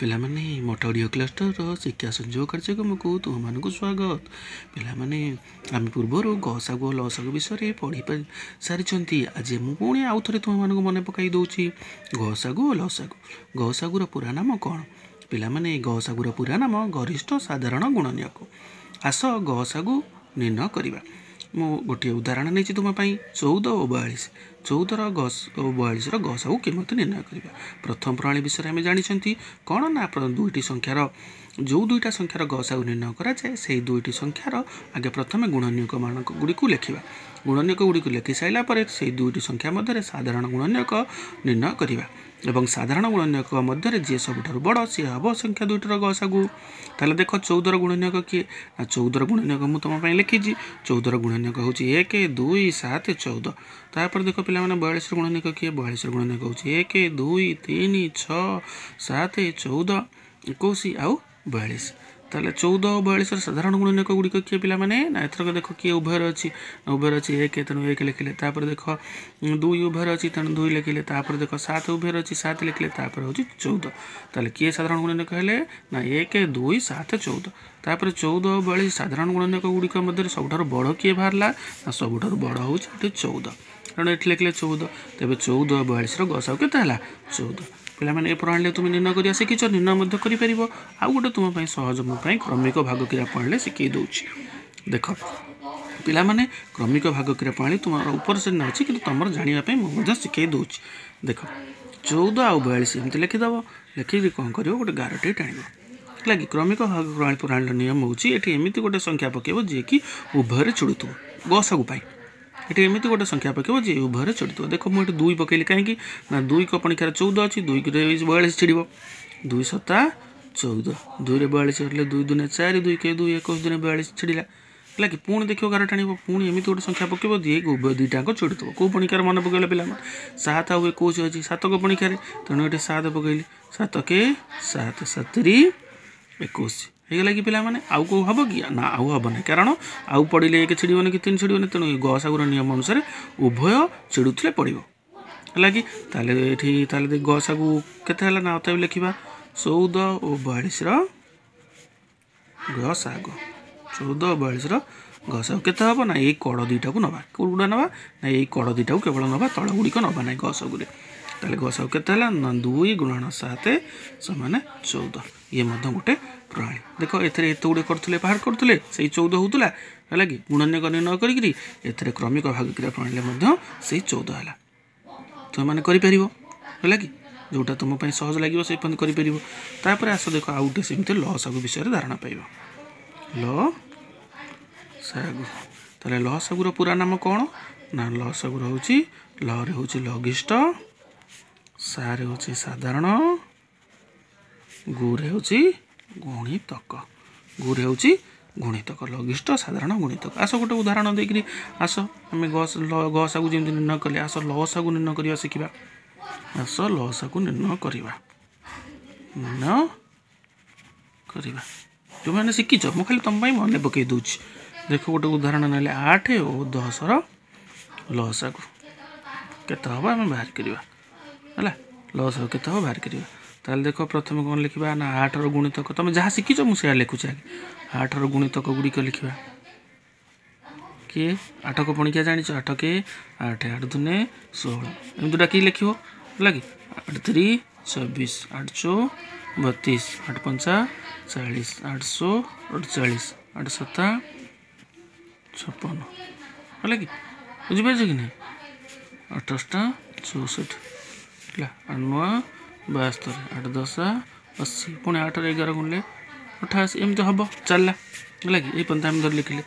ପିଲାମାନେ, ମଠ ଅଡ଼ିଓ କ୍ଲଷ୍ଟରର ଶିକ୍ଷା ସଂଯୋଗ କାର୍ଯ୍ୟକ୍ରମକୁ ତୁମମାନଙ୍କୁ ସ୍ୱାଗତ। ପିଲାମାନେ, ଆମେ ପୂର୍ବରୁ ଗସାଗୁ ଓ ଲସାଗୁ ବିଷୟରେ ପଢ଼ି ସାରିଛନ୍ତି। ଆଜି ମୁଁ ପୁଣି ଆଉ ଥରେ ତୁମମାନଙ୍କୁ ମନେ ପକାଇ ଦେଉଛି ଗସାଗୁ ଓ ଲସାଗୁ। ଗସାଗୁର ପୁରା ନାମ କ'ଣ? ପିଲାମାନେ, ଗସାଗୁର ପୁରା ନାମ ଗରିଷ୍ଠ ସାଧାରଣ ଗୁଣନୀୟକ। ଆସ ଗସାଗୁ ନିର୍ଣ୍ଣୟ କରିବା। ମୁଁ ଗୋଟିଏ ଉଦାହରଣ ନେଇଛି ତୁମ ପାଇଁ, 14 ଓ 42। 14ର ଗସ ଓ 42ର ଗସାଗୁ କେମିତି ନିର୍ଣ୍ଣୟ କରିବା? ପ୍ରଥମ ପ୍ରଣାଳୀ ବିଷୟରେ ଆମେ ଜାଣିଛନ୍ତି କ'ଣ ନା, ଦୁଇଟି ସଂଖ୍ୟାର, ଯେଉଁ ଦୁଇଟା ସଂଖ୍ୟାର ଗସାଗୁ ନିର୍ଣ୍ଣୟ କରାଯାଏ, ସେଇ ଦୁଇଟି ସଂଖ୍ୟାର ଆଗେ ପ୍ରଥମେ ଗୁଣନୀୟକ ମାନ ଗୁଡ଼ିକୁ ଲେଖିବା। ଗୁଣନୀୟକ ଗୁଡ଼ିକୁ ଲେଖି ସାରିଲା ପରେ ସେଇ ଦୁଇଟି ସଂଖ୍ୟା ମଧ୍ୟରେ ସାଧାରଣ ଗୁଣନୀୟକ ନିର୍ଣ୍ଣୟ କରିବା ଏବଂ ସାଧାରଣ ଗୁଣନୀୟକ ମଧ୍ୟରେ ଯିଏ ସବୁଠାରୁ ବଡ଼, ସିଏ ହେବ ସଂଖ୍ୟା ଦୁଇଟିର ଗସାଗୁ। ତାହେଲେ ଦେଖ, 14ର ଗୁଣନୀୟକ କିଏ ନା, 14ର ଗୁଣନୀୟକ ମୁଁ ତୁମ ପାଇଁ ଲେଖିଛି। 14ର ଗୁଣନୀୟକ ହେଉଛି 1, 2, 7, 14। ତାପରେ ଦେଖ ପିଲାମାନେ, 42ର ଗୁଣନୀୟକ କିଏ? 42ର ଗୁଣନୀୟକ ହେଉଛି 1, 2, 3, 6, 7, 14, 21 ଆଉ 42। ତାହେଲେ 14 ଓ 42ର ସାଧାରଣ ଗୁଣନୀୟକ ଗୁଡ଼ିକ କିଏ ପିଲାମାନେ? ନା ଏଥରକ ଦେଖ କିଏ ଉଭୟରେ ଅଛି। ନା ଉଭୟରେ ଅଛି 1, ତେଣୁ 1 ଲେଖିଲେ। ତାପରେ ଦେଖ, 2 ଉଭୟରେ ଅଛି, ତେଣୁ 2 ଲେଖିଲେ। ତାପରେ ଦେଖ, 7 ଉଭୟରେ ଅଛି, 7 ଲେଖିଲେ। ତାପରେ ହେଉଛି 14। ତାହେଲେ କିଏ ସାଧାରଣ ଗୁଣନୀୟକ ହେଲେ? ନା 1, 2, 7, 14। ତାପରେ 14 ଓ 42 ସାଧାରଣ ଗୁଣନୀୟକ ଗୁଡ଼ିକ ମଧ୍ୟରେ ସବୁଠାରୁ ବଡ଼ କିଏ ବାହାରିଲା? ନା ସବୁଠାରୁ ବଡ଼ ହେଉଛି ଏଠି 14, ତେଣୁ ଏଠି ଲେଖିଲେ 14। ତେବେ 14 ଓ 42ର ଗସାଗୁ କେତେ ହେଲା? 14। ପିଲାମାନେ, ଏ ପ୍ରଣାଳୀରେ ତୁମେ ନିର୍ଣ୍ଣୟ କରିବା ଶିଖିଛ, ନିର୍ଣ୍ଣୟ ମଧ୍ୟ କରିପାରିବ। ଆଉ ଗୋଟେ ତୁମ ପାଇଁ ସହଜ, ମୋ ପାଇଁ କ୍ରମିକ ଭାଗକ୍ରିୟା ପ୍ରଣାଳୀ ଶିଖେଇ ଦେଉଛି। ଦେଖ ପିଲାମାନେ, କ୍ରମିକ ଭାଗକ୍ରିୟା ପ୍ରଣାଳୀ ତୁମର ଉପର ଶ୍ରେଣୀ ଅଛି, କିନ୍ତୁ ତୁମର ଜାଣିବା ପାଇଁ ମୁଁ ମଧ୍ୟ ଶିଖେଇ ଦେଉଛି। ଦେଖ, 14 ଆଉ 42 ଏମିତି ଲେଖିଦେବ। ଲେଖିକି କ'ଣ କରିବ? ଗୋଟେ ଗାରଟିଏ ଟାଣିବ, ହେଲା କି? କ୍ରମିକ ଭାଗ ପ୍ରଣାଳୀର ନିୟମ ହେଉଛି, ଏଠି ଏମିତି ଗୋଟେ ସଂଖ୍ୟା ପକାଇବ ଯିଏକି ଉଭୟରେ ଛିଡ଼ୁଥିବ। ଗସାଗୁ ପାଇଁ ଏଠି ଏମିତି ଗୋଟେ ସଂଖ୍ୟା ପକାଇବ ଯିଏ ଉଭୟରେ ଛିଡ଼ୁଥିବ। ଦେଖ, ମୁଁ ଏଠି 2 ପକାଇଲି। କାହିଁକି ନା 2 ପଣିଖାରେ 14 ଅଛି, 2ରେ 42 ଛିଡ଼ିବ। 2 ସତା 14। 2ରେ 42 ହେଲେ 2 ଦୁନେ 4, 2 କେ 2, 21 ଦୁନେ 42 ଛିଡ଼ିଲା, ହେଲା କି? ପୁଣି ଦେଖିବ, ଗାର ଟାଣିବ। ପୁଣି ଏମିତି ଗୋଟେ ସଂଖ୍ୟା ପକାଇବ ଯିଏ ଉଭୟ ଦୁଇଟାଙ୍କ ଛିଡ଼ୁଥିବ। କେଉଁ ପଣିଖାରେ ମନେ ପକାଇଲେ ପିଲାମାନେ? 7 ଆଉ 21 ଅଛି ସାତକ ପଣିଖାରେ, ତେଣୁ ଏଠି 7 ପକାଇଲି। 7 କେ 7, 7 21 ହେଇଗଲା କି ପିଲାମାନେ? ଆଉ କେଉଁ ହେବ କି? ନା, ଆଉ ହେବ ନାହିଁ, କାରଣ ଆଉ ପଡ଼ିଲେ 1 ଛିଡ଼ିବନି କି 3 ଛିଡ଼ିବନି। ତେଣୁ ଗସାଗୁର ନିୟମ ଅନୁସାରେ ଉଭୟ ଛିଡ଼ୁଥିଲେ ପଡ଼ିବ, ହେଲା କି? ତାହେଲେ ଏଠି ତାହେଲେ ଗସାଗୁ କେତେ ହେଲା? ନା ଅତଏବ ଲେଖିବା 14 ଓ 42ର ଗସାଗୁ। 14 ଓ 42ର ଗସାଗୁ କେତେ ହେବ? ନା ଏଇ କଡ଼ ଦୁଇଟାକୁ ନେବା। କେଉଁଗୁଡ଼ା ନେବା? ନା ଏଇ କଡ଼ ଦୁଇଟାକୁ କେବଳ ନେବା, ତଳ ଗୁଡ଼ିକ ନେବା ନାହିଁ ଗସାଗୁରେ। ତାହେଲେ ଗସାଗୁ କେତେ ହେଲା? ନା 2 ଗୁଣନ 7 ସମାନ 14। ଇଏ ମଧ୍ୟ ଗୋଟେ ପ୍ରଣାଳୀ। ଦେଖ, ଏଥିରେ ଏତେ ଗୁଡ଼ିଏ କରୁଥିଲେ, ବାହାର କରୁଥିଲେ, ସେଇ 14 ହେଉଥିଲା, ହେଲା କି? ଗୁଣନୀୟକ ନିର୍ଣ୍ଣୟ କରିକିରି ଏଥିରେ କ୍ରମିକ ଭାଗକ୍ରିୟା ପ୍ରଣାଳୀରେ ମଧ୍ୟ ସେଇ 14 ହେଲା। ତୁମେମାନେ କରିପାରିବ, ହେଲା କି? ଯେଉଁଟା ତୁମ ପାଇଁ ସହଜ ଲାଗିବ, ସେଇ କରିପାରିବ। ତାପରେ ଆସ ଦେଖ, ଆଉ ଗୋଟେ ସେମିତି ଲ ସାଗୁ ବିଷୟରେ ଧାରଣା ପାଇବ। ଲ ସାଗୁ। ତାହେଲେ ଲ ସାଗୁର ପୁରା ନାମ କ'ଣ? ନା ଲ ସାଗୁର ହେଉଛି, ଲରେ ହେଉଛି ଲଘିଷ୍ଠ, ସାରେ ହେଉଛି ସାଧାରଣ, ଗୁରେ ହେଉଛି ଗୁଣିତକ। ଗୁରେ ହେଉଛି ଗୁଣିତକ। ଲଘିଷ୍ଠ ସାଧାରଣ ଗୁଣିତକ। ଆସ ଗୋଟେ ଉଦାହରଣ ଦେଇକିରି ଆସ, ଆମେ ଗସାଗୁ ଯେମିତି ନିର୍ଣ୍ଣୟ କଲେ, ଆସ ଲସାଗୁ ନିର୍ଣ୍ଣୟ କରିବା ଶିଖିବା। ଆସ ଲସାଗୁ ନିର୍ଣ୍ଣୟ କରିବା, ନିର୍ଣ୍ଣୟ କରିବା। ଯେଉଁମାନେ ଶିଖିଛ, ମୁଁ ଖାଲି ତୁମ ପାଇଁ ମନେ ପକାଇ ଦେଉଛି। ଦେଖ, ଗୋଟେ ଉଦାହରଣ ନେଲେ 8 ଓ 10ର ଲସାଗୁ କେତେ ହେବ ଆମେ ବାହାର କରିବା, ହେଲା? ଲସାଗୁ କେତେ ହେବ ବାହାର କରିବା। ତାହେଲେ ଦେଖ, ପ୍ରଥମେ କ'ଣ ଲେଖିବା? ନା 8ର ଗୁଣିତକ। ତୁମେ ଯାହା ଶିଖିଛ ମୁଁ ସେୟା ଲେଖୁଛି। ଆଗେ 8ର ଗୁଣିତକ ଗୁଡ଼ିକ ଲେଖିବା। କିଏ 8କ ପଣିକିଆ ଜାଣିଛ? 8 କେ 8, 8 ଦୁନେ 16, ଏମିତି ଡାକିକି ଲେଖିବ, ହେଲା କି? 8 ତିରି 24, 8 ଚଉ 32, 8 ପଞ୍ଚା 40, 8 ଶହ 48, 8 ସତା 56, ହେଲା କି? ବୁଝିପାରୁଛ କି ନାହିଁ? 8 ଅଷ୍ଟା 64 ହେଲା, 8 ନଅ 72, 8 ଦଶା 80, ପୁଣି 8ରେ 11 ଗୁଣିଲେ 88, ଏମିତି ହେବ ଚାଲିଲା, ହେଲା କି? ଏଇ ପନ୍ଥା ଆମେ ଧରି ଲେଖିଲେ।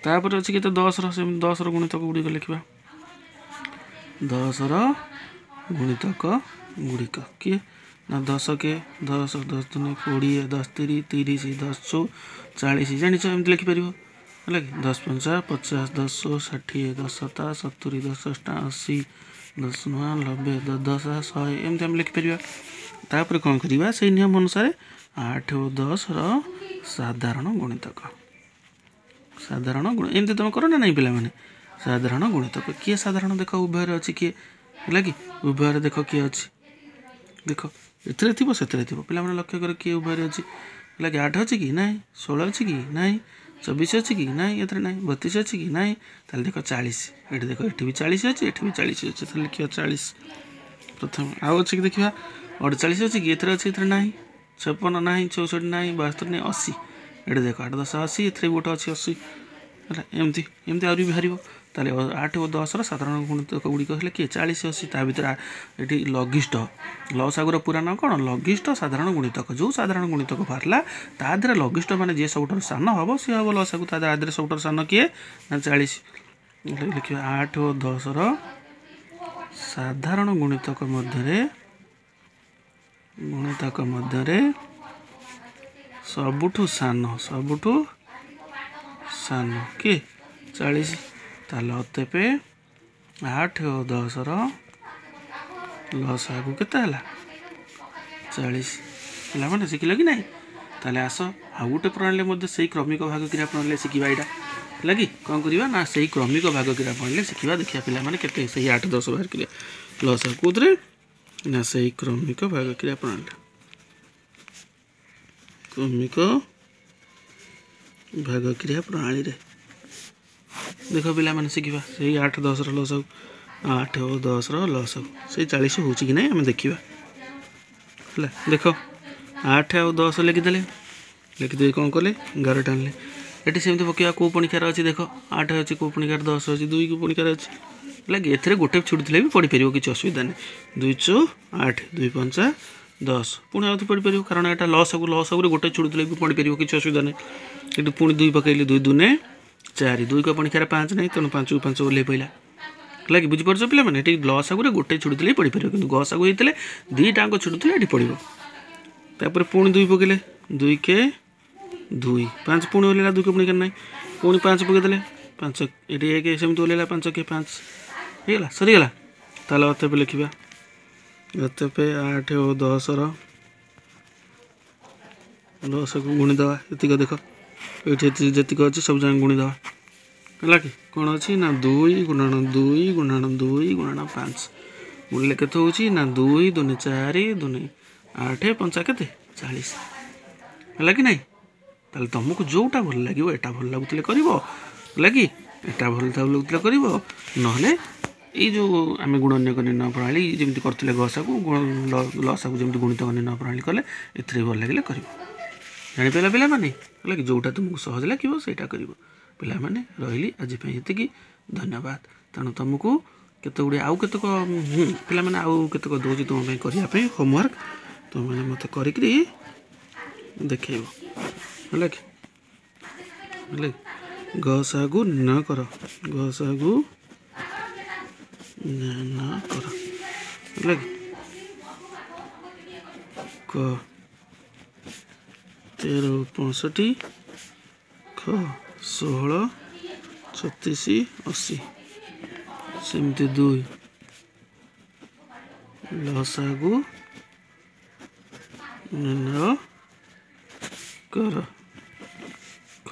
ତାପରେ ଅଛି କେତେ? 10ର। ସେମିତି 10ର ଗୁଣିତକ ଗୁଡ଼ିକ ଲେଖିବା। 10ର ଗୁଣିତକ ଗୁଡ଼ିକ କିଏ? ନା 10 କେ 10, 10 ଦୁନେ 20, 10 ତିରି 30, 10 ଚଉ 40, ଜାଣିଛ, ଏମିତି ଲେଖିପାରିବ, ହେଲା କି? 10 ପଞ୍ଚା 50, 10 60, 10 ସତା 70, 10 ଅଷ୍ଟା 80, 10 ନଅ 90, 10 ଦଶ 100, ଏମିତି ଆମେ ଲେଖିପାରିବା। ତାପରେ କ'ଣ କରିବା? ସେଇ ନିୟମ ଅନୁସାରେ 8 ଓ 10ର ସାଧାରଣ ଗୁଣିତକ, ସାଧାରଣ ଗୁଣ, ଏମିତି ତୁମେ କର ନା ନାହିଁ ପିଲାମାନେ? ସାଧାରଣ ଗୁଣିତକ କିଏ? ସାଧାରଣ ଦେଖ ଉଭୟରେ ଅଛି କିଏ, ହେଲା କି? ଉଭୟରେ ଦେଖ କିଏ ଅଛି। ଦେଖ, ଏଥିରେ ଥିବ ସେଥିରେ ଥିବ। ପିଲାମାନେ ଲକ୍ଷ୍ୟ କର କିଏ ଉଭୟରେ ଅଛି। ହେଲା କି 8 ଅଛି କି ନାହିଁ, 16 ଅଛି କି ନାହିଁ, 24 ଅଛି କି ନାହିଁ, ଏଥିରେ ନାହିଁ, 32 ଅଛି କି ନାହିଁ। ତାହେଲେ ଦେଖ 40, ଏଠି ଦେଖ ଏଠି ବି 40 ଅଛି, ଏଠି ବି 40 ଅଛି, ତାହେଲେ ଲେଖିବା 40 ପ୍ରଥମେ। ଆଉ ଅଛି କି ଦେଖିବା, 48 ଅଛି କି, ଏଥିରେ ଅଛି, ଏଥିରେ ନାହିଁ, 56 ନାହିଁ, 64 ନାହିଁ, 72 ନାହିଁ, 80। ଏଠି ଦେଖ 8 10 80, ଏଥିରେ ବି ଗୋଟେ ଅଛି 80। ହେଲା ଏମିତି ଏମିତି ଆହୁରି ବି ବାହାରିବ। ତାହେଲେ 8 ଓ 10ର ସାଧାରଣ ଗୁଣିତକ ଗୁଡ଼ିକ ହେଲେ କିଏ 40 80। ତା ଭିତରେ ଏଠି ଲଘିଷ୍ଠ ଲସାଗୁର ପୁରା ନାଁ କ'ଣ, ଲଘିଷ୍ଠ ସାଧାରଣ ଗୁଣିତକ। ଯେଉଁ ସାଧାରଣ ଗୁଣିତକ ବାହାରିଲା ତା ଦେହରେ ଲଘିଷ୍ଠ ମାନେ ଯିଏ ସବୁଠାରୁ ସାନ ହେବ ସିଏ ହେବ ଲସାଗୁ। ତା ଦେହରେ ସବୁଠାରୁ ସାନ କିଏ ନା 40। ଲେଖିବା 8 ଓ 10ର ସାଧାରଣ ଗୁଣିତକ ମଧ୍ୟରେ ସବୁଠୁ ସାନ କିଏ 40। ତାହେଲେ ଅତଏବ 8 ଓ 10ର ଲସାଗୁ କେତେ ହେଲା 40। ପିଲାମାନେ ଶିଖିଲ କି ନାହିଁ? ତାହେଲେ ଆସ ଆଉ ଗୋଟେ ପ୍ରଣାଳୀରେ ମଧ୍ୟ ସେଇ କ୍ରମିକ ଭାଗ କ୍ରିୟା ପ୍ରଣାଳୀରେ ଶିଖିବା। ଏଇଟା ହେଲା କି କ'ଣ କରିବା ନା ସେଇ କ୍ରମିକ ଭାଗ କ୍ରିୟା ପ୍ରଣାଳୀରେ ଶିଖିବା। ଦେଖିବା ପିଲାମାନେ କେତେ ସେଇ 8 10 ବାହାର କରିବା ଲସାଗୁ କେଉଁଥିରେ ନା ସେଇ କ୍ରମିକ ଭାଗ କ୍ରିୟା ପ୍ରଣାଳୀରେ। କ୍ରମିକ ଭାଗ କ୍ରିୟା ପ୍ରଣାଳୀରେ ଦେଖ ପିଲାମାନେ ଶିଖିବା ସେଇ 8 10ର ଲସାଗୁ, 8 ଓ 10ର ଲସାଗୁ ସେଇ 40 ହେଉଛି କି ନାହିଁ ଆମେ ଦେଖିବା। ହେଲା ଦେଖ 8 ଆଉ 10 ଲେଖିଦେଲେ, ଲେଖିଦେଇ କ'ଣ କଲେ 11 ଟାଣିଲେ। ଏଠି ସେମିତି ପକାଇବା କେଉଁ ପଣିଖାରେ ଅଛି ଦେଖ 8 ଅଛି, କେଉଁ ପଣିଖାରେ 10 ଅଛି, 2 କେଉଁ ପଣିଖାରେ ଅଛି। ହେଲା କି ଏଥିରେ ଗୋଟେ ଛୁଟିଥିଲେ ବି ପଢ଼ିପାରିବ, କିଛି ଅସୁବିଧା ନାହିଁ। 2 4 8, 2 5 10, ପୁଣି ଆଉ ପଢ଼ିପାରିବ, କାରଣ ଏଇଟା ଲସାଗୁରେ ଗୋଟେ ଛୁଟିଥିଲେ ବି ପଢ଼ିପାରିବ, କିଛି ଅସୁବିଧା ନାହିଁ। ଏଠି ପୁଣି 2 ପକାଇଲି, 2 2 4, 2 ପଣିଖାରେ 5 ନାହିଁ, ତେଣୁ 5କୁ 5 ଓହ୍ଲେଇ ପଡ଼ିଲା। ହେଲା କି ବୁଝିପାରୁଛ ପିଲାମାନେ? ଏଠି ଲସାଗୁରେ ଗୋଟେ ଛୁଟିଥିଲେ ବି ପଢ଼ିପାରିବ, କିନ୍ତୁ ଗସାଗୁ ହେଇଥିଲେ 2ଟାଙ୍କ ଛୁଟିଥିଲେ ଏଠି ପଡ଼ିବ। ତାପରେ ପୁଣି 2 ପକାଇଲେ, 2 କେ 2 5, ପୁଣି ଓହ୍ଲେଇଲା, 2 ପଣିଖାରେ ନାହିଁ, ପୁଣି 5 ପକାଇଦେଲେ 5, ଏଠି 1 ସେମିତି ଓହ୍ଲେଇଲା 5 କେ 5 ହେଇଗଲା, ସରିଗଲା। ତାହେଲେ ଅତଏବ ଲେଖିବା ଅତଏବ 8 ଓ 10ର 10କୁ ଗୁଣିଦେବା। ଏତିକ ଦେଖ ଏଇଠି ଯେତିକ ଅଛି ସବୁ ଯାକ ଗୁଣିଦେବା। ହେଲା କି କ'ଣ ଅଛି ନା 2 ଗୁଣନ 2 ଗୁଣନ 2 ଗୁଣନ 5 ଗୁଣିଲେ କେତେ ହେଉଛି ନା 2 2 4 2 8 5 କେତେ 40। ହେଲା କି ନାହିଁ? ତାହେଲେ ତୁମକୁ ଯେଉଁଟା ଭଲ ଲାଗିବ, ଏଟା ଭଲ ଲାଗୁଥିଲେ କରିବ, ହେଲା କି ଏଟା ଭଲ ଲାଗୁଥିଲେ କରିବ, ନହେଲେ ଏଇ ଯେଉଁ ଆମେ ଗୁଣନୀୟକ ନିର୍ଣ୍ଣୟ ପ୍ରଣାଳୀ ଯେମିତି କରୁଥିଲେ ଗସାକୁ ଲସାକୁ ଯେମିତି ଗୁଣିତକ ନିର୍ଣ୍ଣୟ ପ୍ରଣାଳୀ କଲେ, ଏଥିରେ ଭଲ ଲାଗିଲେ କରିବ। ଜାଣିପାରିଲ ପିଲାମାନେ? ହେଲା କି ଯେଉଁଟା ତୁମକୁ ସହଜ ଲାଗିବ ସେଇଟା କରିବ। ପିଲାମାନେ ରହିଲି ଆଜି ପାଇଁ ଏତିକି, ଧନ୍ୟବାଦ। ତେଣୁ ତୁମକୁ କେତେ ଗୁଡ଼ିଏ ଆଉ କେତେକ ପିଲାମାନେ ଆଉ କେତେକ ଦେଉଛି ତୁମ ପାଇଁ କରିବା ପାଇଁ ହୋମୱାର୍କ, ତୁମେମାନେ ମୋତେ କରିକିରି ଦେଖେଇବ। ହେଲା କି? ହେଲା କି ଗସାଗୁ ନିର୍ଣ୍ଣୟ କର, ଗସାଗୁ ନିର୍ଣ୍ଣୟ କର। ହେଲା କି କ 13 65, ଖ 16 36 80, ସେମିତି 2 ଲସାଗୁ ନିର୍ଣ୍ଣୟ କର, କ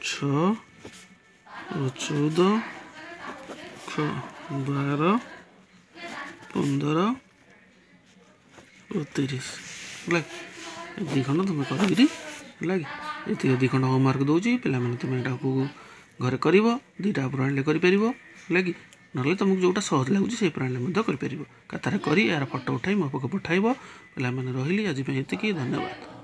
6 ଓ 14, ଖ 12 15 ଓ 30। ହେଲା 2 ଖଣ୍ଡ ତୁମେ କରିକିରି, ହେଲା କି ଏତିକି 2 ଖଣ୍ଡ ହୋମୱାର୍କ ଦେଉଛି ପିଲାମାନେ, ତୁମେ ଏଟାକୁ ଘରେ କରିବ, 2ଟା ପ୍ରଣାଳୀରେ କରିପାରିବ। ହେଲା କି ନହେଲେ ତୁମକୁ ଯେଉଁଟା ସହଜ ଲାଗୁଛି ସେଇ ପ୍ରଣାଳୀରେ ମଧ୍ୟ କରିପାରିବ। ଖାତାରେ କରି ଏହାର ଫଟୋ ଉଠାଇ ମୋ ପାଖକୁ ପଠାଇବ। ପିଲାମାନେ ରହିଲି ଆଜି ପାଇଁ ଏତିକି, ଧନ୍ୟବାଦ।